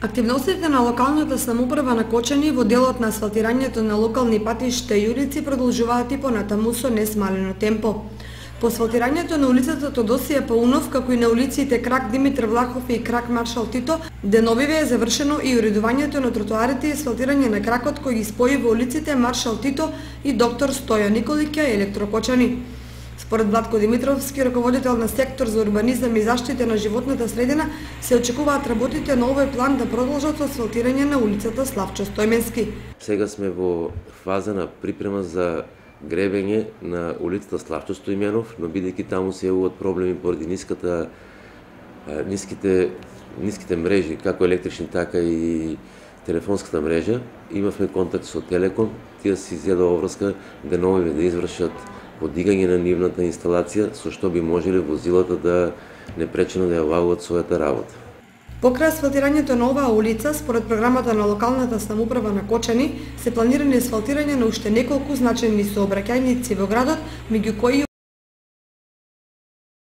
Активностите на локалната самоуправа на Кочани во делот на асфалтирањето на локални патишта и улици продолжуваат и понатаму со несмалено темпо. По асфалтирањето на улицата Тодосија Паунов, како и на улиците Крак Димитар Влахов и Крак Маршал Тито, деновиве е завршено и уредувањето на тротоарите и асфалтирање на кракот кој ги спои во улиците Маршал Тито и Доктор Стојан Николиќа и Електрокочани. Според Владко Димитровски, раководител на сектор за урбанизам и заштита на животната средина, се очекуваат работите на овој план да продолжат со асфалтирање на улицата Славчо Стојменски. Сега сме во фаза на припрема за гребење на улицата Славчо Стојменов, но бидејќи таму се јавуваат проблеми поради ниските мрежи, како електрични, така и телефонската мрежа, имавме контакт со Телеком, тие се изјаде обврска деновиве да извршат подигање на нивната инсталација, со што би можеле возилата да непречено да ја обавуваат својата работа. Покрај асфалтирањето на оваа улица, според програмата на локалната самоуправа на Кочани, се планирани асфалтирање на уште неколку значајни сообраќајници во градот, меѓу кои